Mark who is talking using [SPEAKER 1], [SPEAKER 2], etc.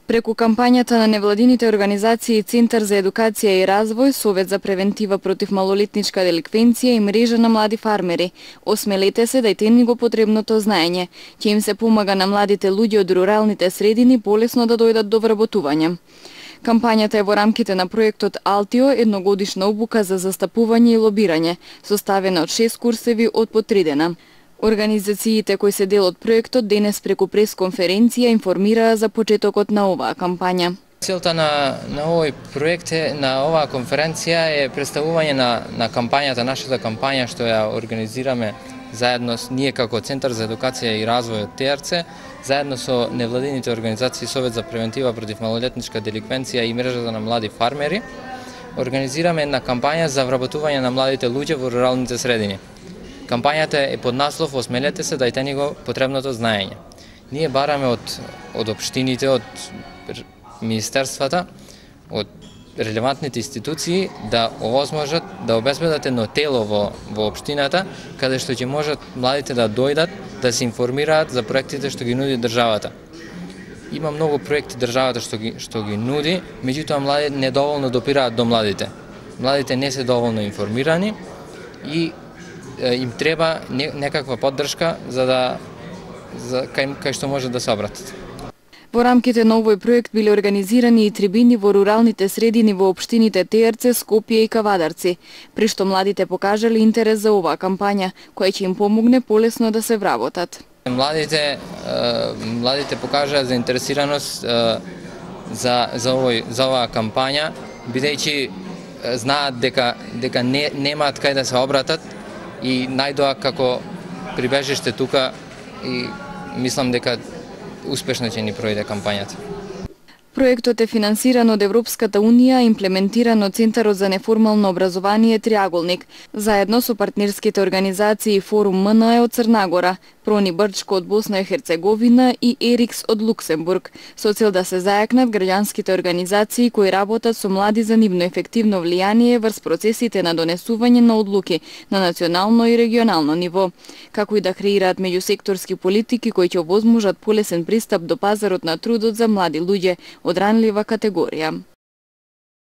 [SPEAKER 1] Преку кампањата на невладините организации Центар за едукација и развој, Совет за превентива против малолетничка деликвенција и мрежа на млади фармери, осмелете се дајте ни го потребното знаење, ќе им се помага на младите луѓе од руралните средини полесно да дојдат до вработување. Кампањата е во рамките на проектот Алтио, едногодишна обука за застапување и лобирање, составена од 6 курсеви од по 3 дена. Организациите кои се дел од проектот денес преку пресконференција информираа за почетокот на оваа кампања.
[SPEAKER 2] Целта на овој проект на оваа конференција е представување на кампањата, нашата кампања што ја организираме заедно ние како Центар за едукација и развој од ТРЦ, заедно со невладините организации Совет за превентива против малолетничка деликвенција и мрежата на млади фармери. Организираме една кампања за вработување на младите луѓе во руралните средини. Кампањата е под наслов "Осмелете се, дајте ни го потребното знаење". Ние бараме од општините, од министерствата, од релевантните институции да овозможат да обезбедат едно тело во општината каде што ќе можат младите да дојдат да се информираат за проектите што ги нуди државата. Има многу проекти државата што ги нуди, меѓутоа младите недоволно допираат до младите. Младите не се доволно информирани и им треба некаква поддршка кај што може да се обратат.
[SPEAKER 1] Во рамките на овој проект биле организирани и трибини во руралните средини во општините ТРЦ, Скопје и Кавадарци, при што младите покажале интерес за оваа кампања, која ќе им помогне полесно да се вработат.
[SPEAKER 2] Младите покажаа заинтересираност за оваа кампања, бидејќи знаат дека немаат кај да се обратат и најдоа како прибежиште тука и мислам дека успешно ќе ни пројде кампањата.
[SPEAKER 1] Проектот е финансиран од Европската Унија, имплементиран од Центарот за неформално образование Триаголник, заедно со партнерските организации Форум МНЕ од Црнагора, Прони Брчко од Босна и Херцеговина и Ерикс од Луксембург, со цел да се зајакнат граѓанските организации кои работат со млади за нивно ефективно влијание врз процесите на донесување на одлуки на национално и регионално ниво, како и да креираат меѓусекторски политики кои ќе овозможат полесен пристап до пазарот на трудот за млади луѓе од ранлива категорија.